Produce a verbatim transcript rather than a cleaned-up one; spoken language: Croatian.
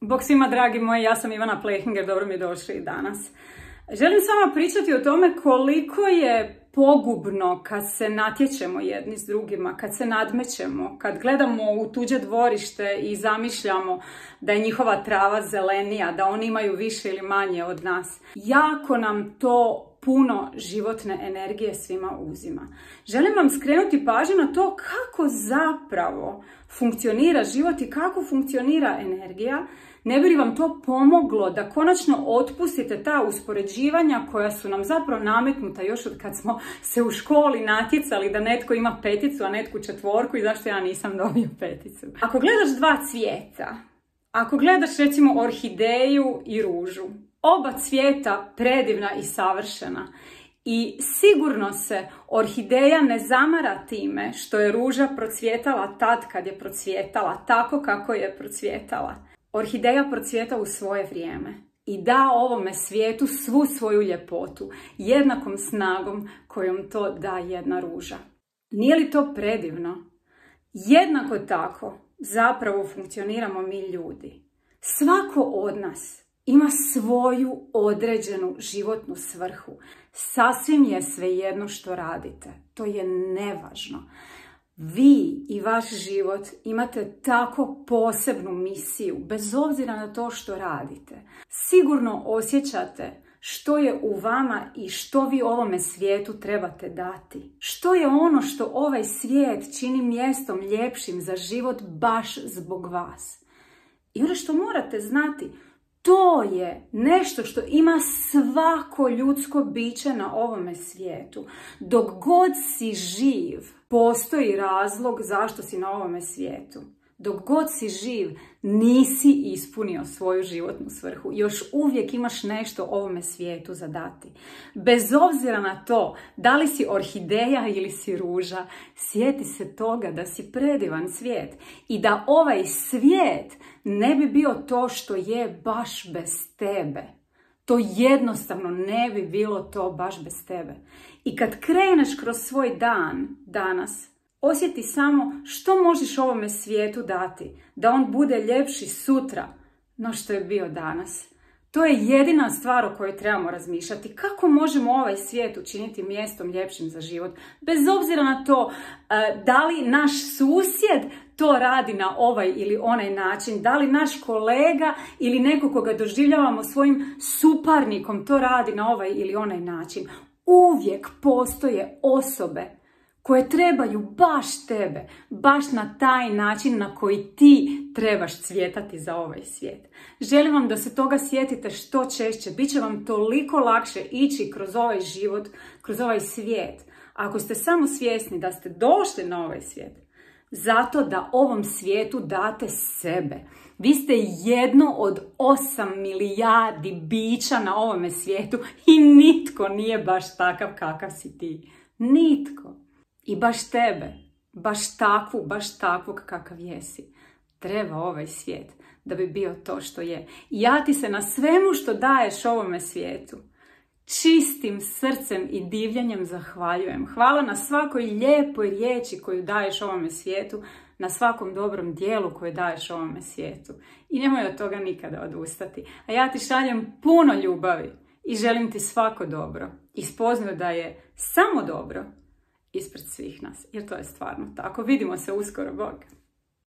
Bog svima dragi moji, ja sam Ivana Plehinger, dobro mi došli i danas. Želim s vama pričati o tome koliko je pogubno kad se natječemo jedni s drugima, kad se nadmećemo, kad gledamo u tuđe dvorište i zamišljamo da je njihova trava zelenija, da oni imaju više ili manje od nas. Jako nam to puno životne energije svima uzima. Želim vam skrenuti pažnju na to kako zapravo funkcionira život i kako funkcionira energija. Ne bi li vam to pomoglo da konačno otpustite ta uspoređivanja koja su nam zapravo nametnuta još od kad smo se u školi natjecali da netko ima peticu, a netko četvorku i zašto ja nisam dobio peticu. Ako gledaš dva cvijeta, ako gledaš recimo orhideju i ružu, oba cvijeta predivna i savršena i sigurno se orhideja ne zamara time što je ruža procvjetala tad kad je procvjetala, tako kako je procvjetala. Orhideja procvjeta u svoje vrijeme i da ovome svijetu svu svoju ljepotu, jednakom snagom kojom to da jedna ruža. Nije li to predivno? Jednako tako zapravo funkcioniramo mi ljudi. Svako od nas ima svoju određenu životnu svrhu. Sasvim je svejedno što radite. To je nevažno. Vi i vaš život imate tako posebnu misiju, bez obzira na to što radite. Sigurno osjećate što je u vama i što vi ovome svijetu trebate dati. Što je ono što ovaj svijet čini mjestom ljepšim za život baš zbog vas. I ono što morate znati, to je nešto što ima svako ljudsko biće na ovome svijetu. Dok god si živ, postoji razlog zašto si na ovome svijetu. Dok god si živ, nisi ispunio svoju životnu svrhu. Još uvijek imaš nešto ovome svijetu za dati. Bez obzira na to da li si orhideja ili si ruža, sjeti se toga da si predivan svijet i da ovaj svijet ne bi bio to što je baš bez tebe. To jednostavno ne bi bilo to baš bez tebe. I kad kreneš kroz svoj dan danas, osjeti samo što možeš ovome svijetu dati, da on bude ljepši sutra no što je bio danas. To je jedina stvar o kojoj trebamo razmišljati. Kako možemo ovaj svijet učiniti mjestom ljepšim za život? Bez obzira na to da li naš susjed to radi na ovaj ili onaj način, da li naš kolega ili neko koga doživljavamo svojim suparnikom to radi na ovaj ili onaj način. Uvijek postoje osobe koje trebaju baš tebe, baš na taj način na koji ti trebaš cvjetati za ovaj svijet. Želim vam da se toga sjetite što češće, bit će vam toliko lakše ići kroz ovaj život, kroz ovaj svijet. Ako ste samo svjesni da ste došli na ovaj svijet, zato da ovom svijetu date sebe. Vi ste jedno od osam milijardi bića na ovome svijetu i nitko nije baš takav kakav si ti. Nitko. I baš tebe, baš takvu, baš takvog kakav jesi, treba ovaj svijet da bi bio to što je. I ja ti se na svemu što daješ ovome svijetu čistim srcem i divljenjem zahvaljujem. Hvala na svakoj lijepoj riječi koju daješ ovome svijetu, na svakom dobrom dijelu koje daješ ovome svijetu. I nemoj od toga nikada odustati. A ja ti šaljem puno ljubavi i želim ti svako dobro. I spoznaju da je samo dobro ispred svih nas, jer to je stvarno tako. Vidimo se uskoro, Bog.